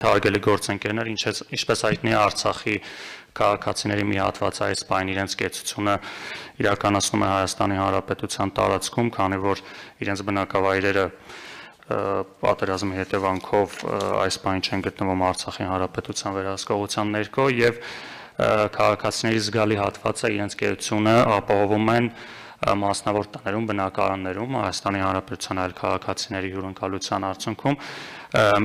Հարգելի գործընկերներ, ինչպես հայտնի է, Արցախի քաղաքացիների մի հատված այս պահին իրենց կեցությունը իրականացնում է Հայաստանի Հանրապետության տարածքում, քանի որ իրենց բնակավայրերը պատերազմի հետևանքով այս պահին չեն գտնվում Արցախի Հանրապետության վերահսկողության ներքո եւ քաղաքացիների զգալի հատվածը իրենց կեցությունը ապահովում են մասնավոր տներում, բնակարաններում, Հայաստանի Հանրապետության այլ քաղաքացիների հյուրընկալության արդյունքում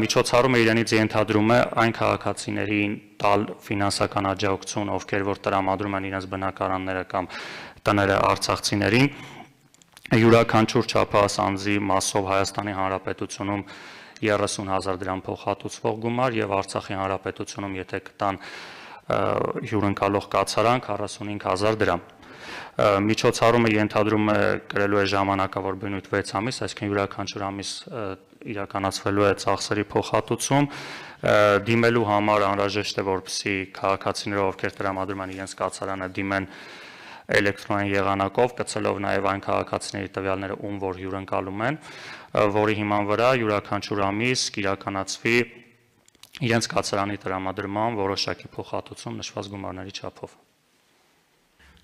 միջոցառումը իրենից ենթադրում է այն քաղաքացիներին տալ ֆինանսական աջակցություն, ովքեր որ տրամադրում են իրենց բնակարանները կամ տները արցախցիներին, յուրաքանչյուր չափահաս անձի մասով Հայաստանի Հանրապետությունում 30,000 դրամ փոխհատուցվող գումար եւ Արցախի Հանրապետությունում եթե կտան հյուրընկալող կացարան 45,000 դրամ։ Միջոցառումը ենթադրում է կրելու է ժամանակավոր բնույթ 6 ամիս, այսինքն յուրաքանչյուր ամիս իրականացվելու է ծախսերի փոխհատուցում, դիմելու համար անհրաժեշտ է, որպեսզի քաղաքացիները, ովքեր տրամադրում են իրենց կացարանը, դիմեն էլեկտրոնային եղանակով, կցելով նաև այն քաղաքացիների տվյալները, ում որ հյուրընկալում են, որի հիման վրա յուրաքանչյուր ամիս կիրականացվի իրենց կացարանի տրամադրման որոշակի փոխհատուցում նշված գումարների չափով։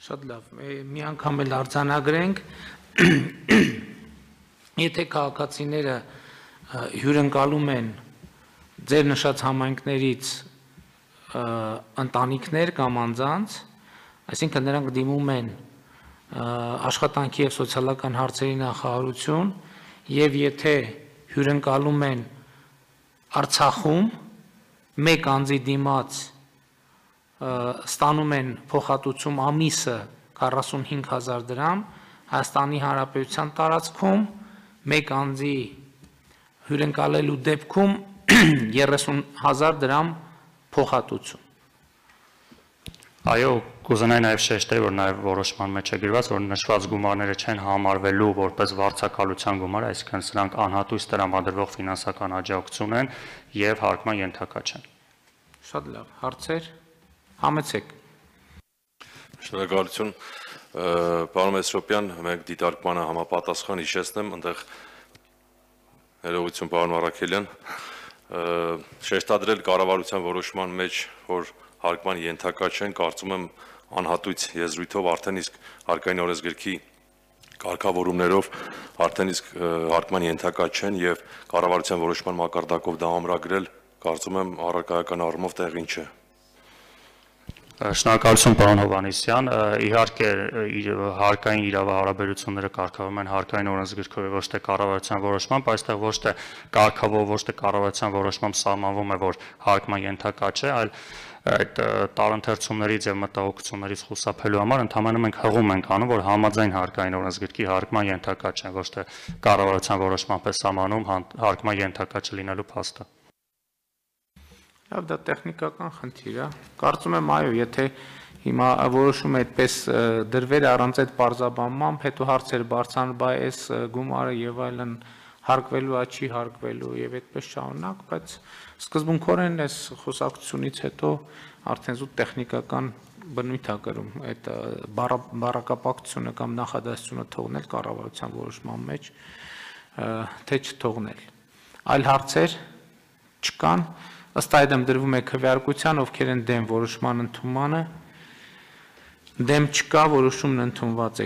Շատ լավ, մի անգամ էլ արձանագրենք, եթե քաղաքացիները հյուրընկալում են ձեր նշած համայնքներից ընտանիքներ կամ անձանց, այսինքն նրանք դիմում են աշխատանքի եւ սոցիալական հարցերի նախարարություն եւ եթե հյուրընկալում են Արցախում մեկ անձի դիմաց ստանում են փոխհատուցում ամիսը 45,000 դրամ, Հայաստանի Հանրապետության տարածքում մեկ անձի հյուրընկալելու դեպքում 30,000 դրամ փոխհատուցում։ Այո, կուզենայի նաև շեշտել, որ նաև որոշման մեջ է գրված, որ նշված գումարները չեն համարվելու որպես վարձակալության գումար, այսինքն սրանք անհատույց տրամադրվող ֆինանսական աջակցություն են եւ հարկման ենթակա չեն։ Շատ լավ, հարցեր, համեցեք։ Շնորհակալություն, պարոն Մեսրոպյան, մենք դիտարկմանը համապատասխան հիշեցնեմ, այնտեղ ներողություն պարոն Առաքելյան, շեշտադրել կառավարության որոշման մեջ, որ հարկման ենթակա չեն, կարծում եմ անհատույց եզրույթով արդեն իսկ հարկային օրենսգրքի կարգավորումներով արդեն իսկ հարկման ենթակա չեն եւ կառավարության որոշման մակարդակով դա ամրագրել, կարծում եմ առարկայական առումով տեղին չէ։ Շնորհակալություն պարոն Հովհաննիսյան, իհարկե հարկային իրավահարաբերությունները կարգավորվում են հարկային օրենսգրքով ոչ թե կառավարության որոշմամբ, այստեղ ոչ թե կարգավոր, ոչ թե կառավարության որոշմամբ սահմանվում է, որ հարկման ենթակա չէ, այլ այդ տարընթերցումներից եւ մտահոգություններից խուսափելու համար ընդհանրապես մենք հղում ենք անում, որ համաձայն հարկային օրենսգրքի հարկման ենթակա չեն, ոչ թե կառավարության որոշմամբ է սահմանում հարկման ենթակա չլինելու փաստը։ Լավ, դա տեխնիկական խնդիր է։ Կարծում եմ, այո, եթե հիմա որոշում է այդպես դրվել առանց այդ պարզաբանմամբ, հետո հարցեր բարձրանում, բայ այս գումարը եւ այլն հարկվելու է, չի հարկվելու եւ այդպես շարունակ, բայց սկզբունքորեն այս խոսակցությունից հետո արդեն զուտ տեխնիկական բնույթ է կրում այդ բառակապակցությունը կամ նախադասությունը թողնել կառավարության որոշման մեջ, թե չթողնել։ Այլ հարցեր չկան, ըստ այդմ դրվում է քվեարկության, ովքեր են դեմ որոշման ընդունմանը, դեմ չկա, որոշումն ընդունված է։